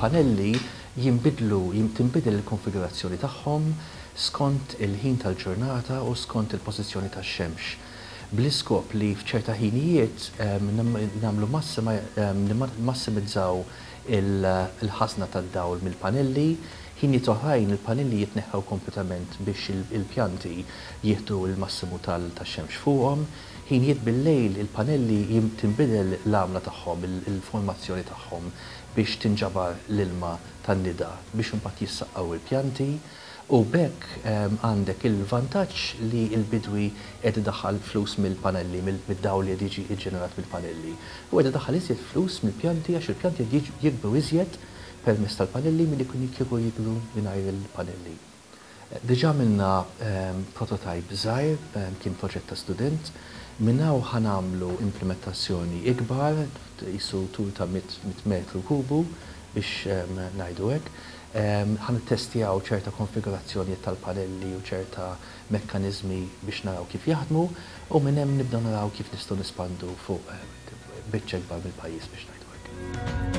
Il-panelli jinbidlu, tinbidel il-konfigurazzjoni tagħhom skont il-ħin tal-ġurnata u skont il-pożizzjoni tax-xemx. Bl-iskop li f'ċerta ħinijiet nagħmlu massimizzaw il-ħażna tad-dawl mill-panelli, ħinijiet oħrajn il-panelli jitneħħew kompletament biex il-pjanti jieħdu l-massimu tax-xemx fuqhom, ħinijiet bil-lejl il-panelli tinbidel l-għamla tagħhom, il-formazzjoni tagħhom biex tinġabar l-ilma tan-nida biex imbagħad jissaqqaw il-pjanti. U b'hekk għandek il-vantaġġ li l-bidwi qed idaħħal flus mill-panelli, mid-dawl li qed jiġi ġġenerat mill-panelli. U qed idaħħal iżjed flus mill-pjanti għax il-pjanti qed jikbru iżjed permezz tal-panelli milli kieku jikbru mingħajr il-panelli. Diġà għamilna prototype żgħir, kien proġett ta' student. Minn hawn ħa nagħmlu implimentazzjoni ikbar, qisu tul ta' 100 metru kubu biex ngħidu hekk. Ħa nittestjaw ċerta konfigurazzjonijiet tal-panelli u ċerta mekkaniżmi biex naraw kif jaħdmu u minn hemm nibdew naraw kif nistgħu nespandu fuq biċċa ikbar mill-pajjiż biex ngħidu hekk.